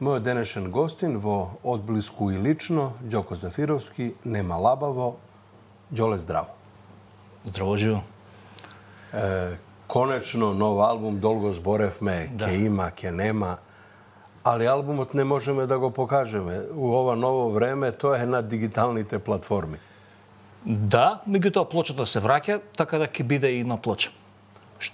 Мојот денешен гостин во Одблиску и лично, Ѓоко Зафировски, Нема лабаво, Ѓоле здраво. Здраво живо. Конечно нов албум, долго зборевме, ке има, ке нема, али албумот не можеме да го покажеме. У ова ново време тоа е на дигиталните платформи. Да, меѓутоа плочата се враќа, така да ќе биде и на плоча.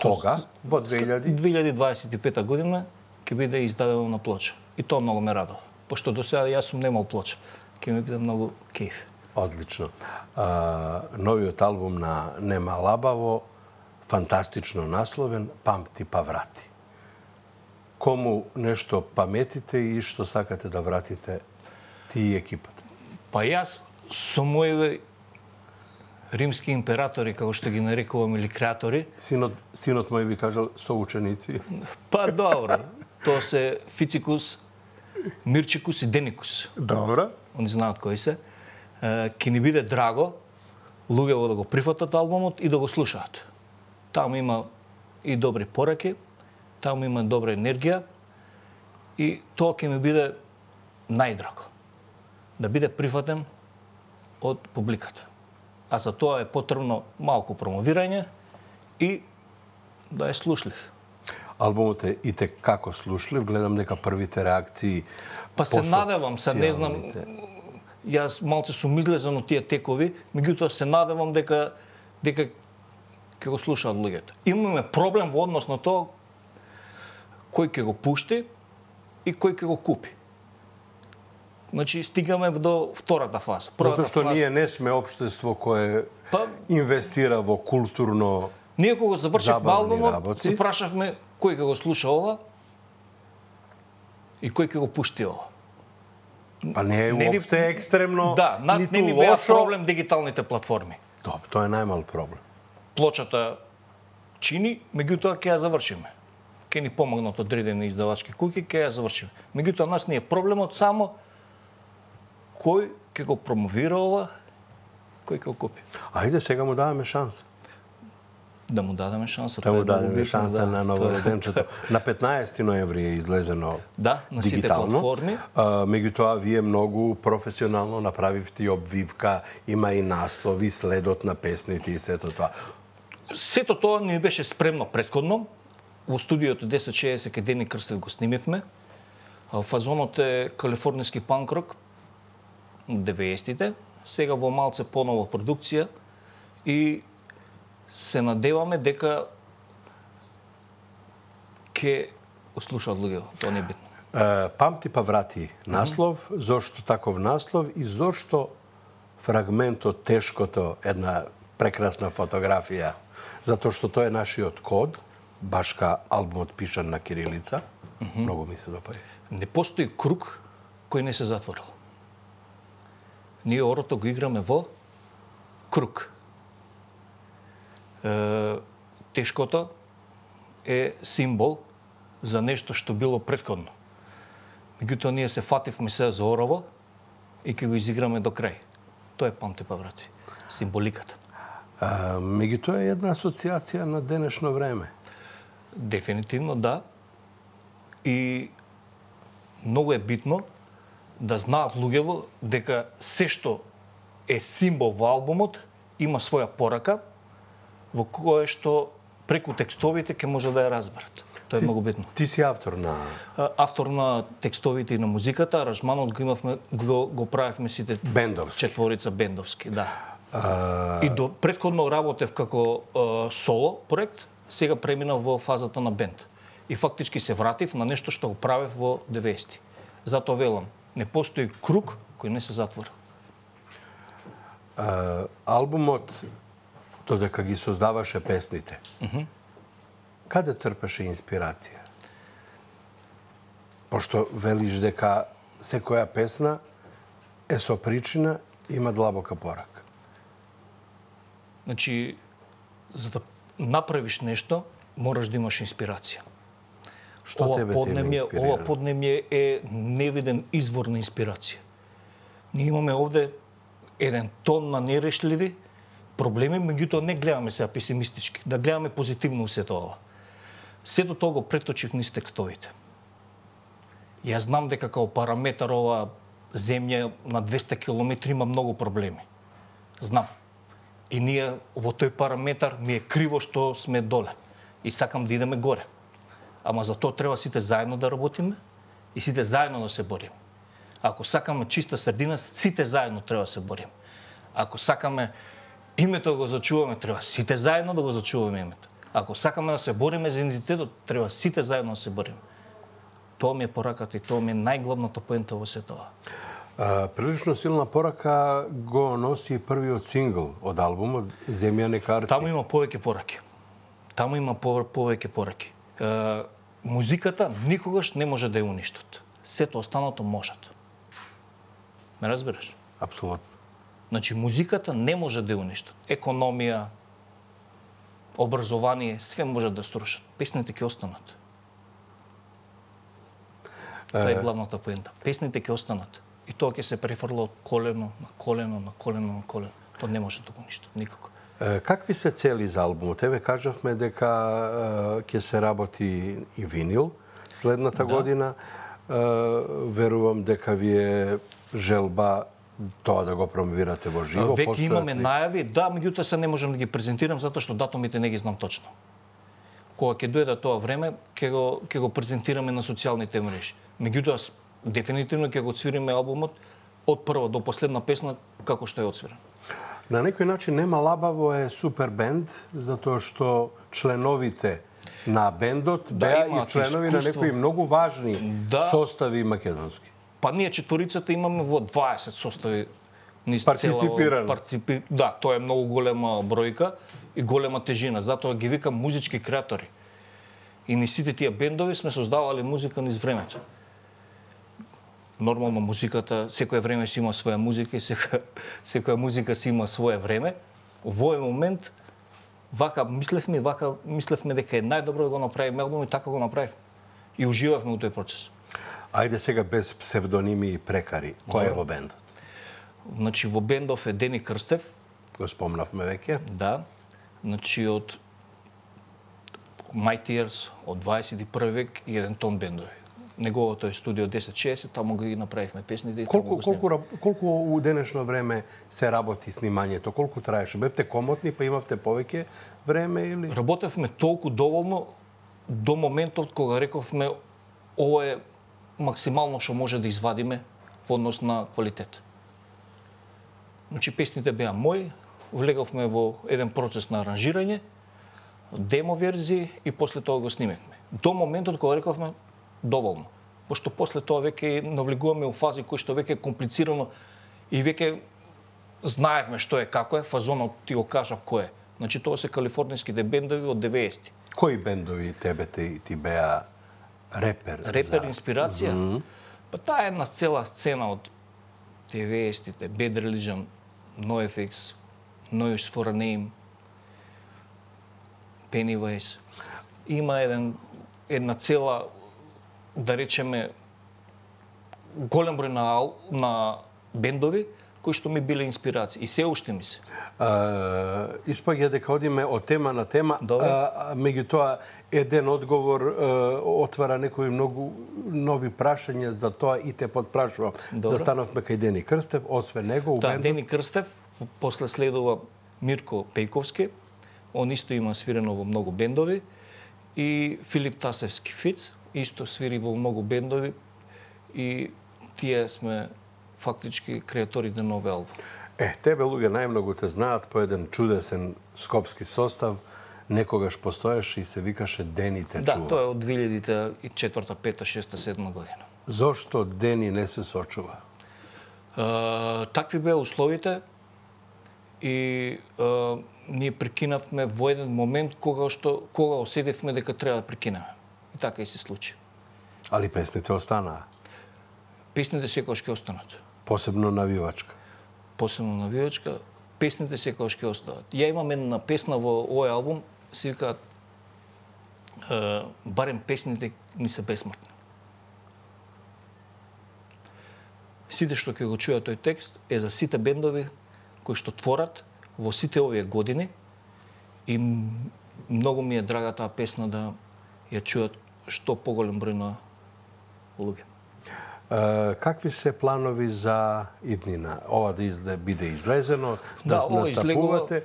Кога? Во 2025 година ќе биде издадено на плоча. И тоа многу ме радува. Пошто до сега јас сум немал плоча. Ќе ми биде многу кејф. Одлично. Новиот албум на Нема лабаво, фантастично насловен, Памти па врати. Кому нешто паметите и што сакате да вратите ти и екипата? Па јас со мои римски императори, како што ги нарекувам, или креатори. Синот мој би кажал соученици. Па добро. Тоа се Фицикус, Мирчикус и Деникус. Добро. Они знаат кои се. Ке ни биде драго луѓето да го прифатат албумот и да го слушаат. Таму има и добри пораки, таму има добра енергија и тоа ќе ми биде најдраго. Да биде прифатен од публиката. А за тоа е потребно малку промовирање и да е слушлив. Албумот е и како слушлив, гледам дека првите реакции па се надевам, се не знам, јас малце сум излезен од тие текови, меѓутоа се надевам дека ќе го слушаат луѓето. Имаме проблем во однос на тоа кој ќе го пушти и кој ќе го купи. Значи стигаме до втората фаза. Затоа што ние не сме општество кое инвестира во културно ние кога завршивме албумот, се прашавме кој ќе го слуша ова и кој ќе го пушти ова. Па не е уопште екстремно, да, нас не ни беа проблем дигиталните платформи. Добро, тоа е најмал проблем. Плочата чини, меѓутоа ќе ја завршиме. Ќе ни помогнат одредени издавачки куќи, ќе ја завршиме. Меѓутоа нас не е проблемот само кој ќе го промовира ова, кој ќе го купи. Ајде сега му даваме шанса. Да му дадеме шанса. Да му дадеме шанса на новороденчето. На 15 ноември е излезено на сите платформи. Меѓутоа, вие многу професионално направивте и обвивка, има и наслови, следот на песните и сето тоа. Сето тоа ни беше спремно претходно. Во студиото 1060 кај Дени Крстев го снимивме. Фазонот е калифорнијски панк-рок, 90-тите. Сега во малце понова продукција и се надеваме дека ќе слушаат луѓето, тоа не е битно. Памти па врати наслов, зошто таков наслов и зошто фрагментот тешкото, една прекрасна фотографија, затоа што тоа е нашиот код, башка албумот пишан на кирилица, многу ми се допаѓа. Не постои круг кој не се затворил. Ние орото го играме во круг. Тешкото е символ за нешто што било претходно. Меѓутоа ние се фативме се за орово и ќе го изиграме до крај. Тоа е Памти па врати. Символиката. Меѓутоа е една асоциација на денешно време. Дефинитивно да. И многу е битно да знаат луѓето дека се што е символ во албумот има своја порака во кое што преку текстовите ќе може да ја разберат. Тоа е многу битно. Ти си автор на текстовите и на музиката, аранжманот го имавме, го правевме сите бендовски. Четворица бендовски, да. И до претходно работев како соло проект, сега преминав во фазата на бенд. И фактички се вратив на нешто што го правев во 90-ти. Затоа велам, не постои круг кој не се затвора. Албумот додека ги создаваше песните, каде трпеше инспирација? Пошто велиш дека секоја песна е со причина, има длабока порака. Значи, за да направиш нешто, мораш да имаш инспирација. Што тебе те инспирира? Ова поднемје е невиден извор на инспирација. Ние имаме овде еден тон на нерешливи проблеми, меѓутоа не гледаме сега песимистички, да гледаме позитивно сето ова. Сето тоа го преточив низ текстовите. Јас знам дека као параметар ова земја на 200 километри има многу проблеми. Знам. И ние во тој параметар ми е криво што сме доле. И сакам да идеме горе. Ама за тоа треба сите заедно да работиме и сите заедно да се бориме. Ако сакаме чиста средина, сите заедно треба да се бориме. Ако сакаме името да го зачуваме, треба сите заедно да го зачуваме името. Ако сакаме да се бориме за идентитетот, треба сите заедно да се бориме. Тоа ми е пораката и тоа ми е најглавната поента во сето ова. Прилично силна порака го носи првиот сингл од албумот Земјани карти. Таму има повеќе пораки. Таму има повеќе пораки. Музиката никогаш не може да ја уништат. Сето останато можат. Ме разбираш? Апсолутно. Значи, музиката не може да ја уништат. Економија, образование, све може да срушат. Песните ќе останат. Тоа е главната поента. Песните ќе останат. И тоа ќе се префрла од колено на колено, на колено, на колено. Тоа не може да го уништат, никако. Какви се цели за албумот? Еве кажавме дека ќе се работи и винил следната година. Верувам дека ви е желба тоа да го промовирате во живо. Веќе имаме најави, да, меѓутоа се не можам да ги презентирам затоа што датумите не ги знам точно. Кога ќе дојде тоа време, ќе го презентираме на социјалните мрежи. Меѓутоа дефинитивно ќе го свириме албумот од прва до последна песна како што е отсвирен. На некој начин Нема лабаво е супер бенд, затоа што членовите на бендот беа и членови на некои многу важни состави македонски. Па ние четворицата имаме во 20 состави партиципирано. Да, тоа е многу голема бројка и голема тежина, затоа ги викам музички креатори. И ни сите тие бендови сме создавале музика низ времето. Нормално музиката, секое време си има своја музика и секоја музика си има свое време. Во овој момент мислевме дека е најдобро да го направиме албум и така го направивме. И уживавме во тој процес. Ајде сега без псевдоними и прекари. Кој е во бендот? Значи во бендов е Дени Крстев. Го спомнавме веќе. Да. Значи од Mighty Years, од 21 век и еден тон бендови. Неговото е студио 1060, таму ги направивме песните и таму го снимавме. Колку у денешно време се работи снимањето? Колку траеше? Бевте комотни, па имавте повеќе време или? Работевме толку доволно до моментот кога рековме ово е максимално што може да извадиме во однос на квалитет. Значи песните беа мои, влеговме во еден процес на аранжирање, демо верзии и после тоа го снимевме. До моментот кога рековме доволно. Пошто после тоа веќе навлегуваме у фази кои што веќе е комплицирано и веќе знаевме што е, како е, фазонот ти го кажав кој е. Значи тоа се калифорнијските бендови од 90-ти. Кои бендови тебе ти беа репер? Репер инспирација? Па таа е една цела сцена од 90-тите, Bad Religion, NoFX, No Use for a Name, Pennywise. Има една цела, да речеме, голем број на бендови кои што ми биле инспирација и се уште ми се. Испаѓа дека одиме од тема на тема, меѓутоа еден одговор отвара некои многу нови прашања, за тоа и те подпрашувам. Застанавме кај Дени Крстев, освен него Да, Дени Крстев, после следува Мирко Пејковски, он исто има свирено во многу бендови, и Филип Тасевски Фиц, исто свири во многу бендови, и тие сме фактички креаторите на овој албум. Тебе луѓе најмногу те знаат по еден чудесен скопски состав, некогаш постоеше и се викаше Дени те чува. Да, тоа е од 2004, 5, 6, 7 година. Зошто Дени не се сочува? Такви беа условите и ние прекинавме во еден момент кога осетивме дека треба да прекинеме. И така и се случи. Али песните останаа? Песните секогаш ќе останат. Посебно навивачка? Посебно навивачка. Песните секогаш ќе останат. Ја имам една песна во овој албум, се викаат барем песните ни се бесмртни. Сите што ќе го чујат тој текст е за сите бендови кои што творат во сите овие години и многу ми е драга таа песна да ја чујат што поголем број на луѓе. Какви се планови за иднина? Ова да биде излезено, Да, да ова настапувате?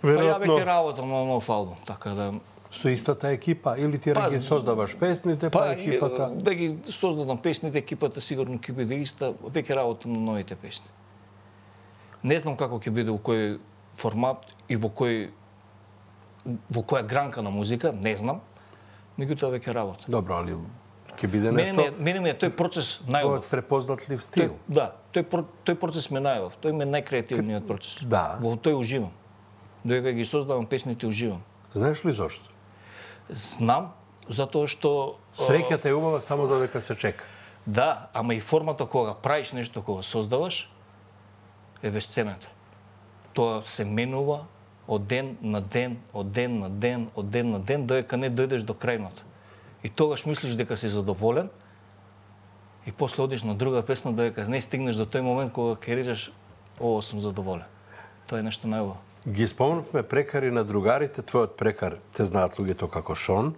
Па ја Веројатно веќе работам на нов албум, така да со истата екипа или ти Па, ги создаваш песните, па екипата? Да ги создадам песните, екипата сигурно ќе биде иста, веќе работам на новите песни. Не знам како ќе биде, во кој формат и во која гранка на музика, не знам. Меѓутоа веќе работам. Добро, али ќе биде нешто... Мене ми е тој процес Твојот најубав. препознатлив стил. Тој процес ме најубав. Тој ме најкреативниот процес. Да. Во тој уживам. Додека ги создавам песните, уживам. Знаеш ли зошто? Знам, затоа што... Среќата е убава само додека се чека. Да, ама и формата кога правиш нешто, кога создаваш, е бесценета. Тоа се менува од ден на ден, од ден на ден, од ден на ден, додека не дојдеш до крајното. И тогаш мислиш дека си задоволен, и после одиш на друга песна, додека не стигнеш до тој момент кога ќе речеш, ово сум задоволен. Тоа е нешто најубаво. Ги спомнавме прекари на другарите, твојот прекар те знаат луѓето како Шон.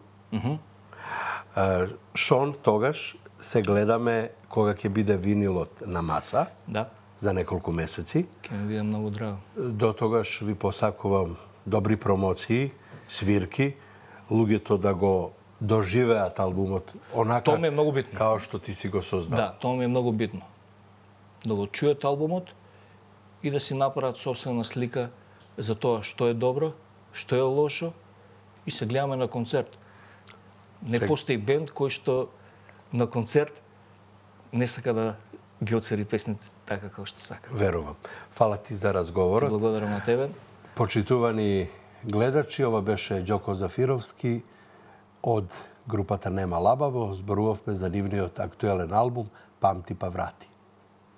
Шон, тогаш се гледаме кога ќе биде винилот на маса. Да. За неколку месеци. Ќе ми биде многу драго. До тогаш ви посакувам добри промоции, свирки, луѓето да го доживеат албумот онака Тоа ми е многу битно. Као што ти си го создал. Да, тоа ми е многу битно. Да го чујат албумот и да си направат собствена слика за тоа што е добро, што е лошо и се гледаме на концерт. Не постои бенд кој што на концерт не сака да ги оцери песните така како што сака. Верувам. Фала ти за разговорот. Благодарам на тебе. Почитувани гледачи, ова беше Ѓоко Зафировски од групата Нема Лабаво. Зборувавме за нивниот актуелен албум Памти па врати.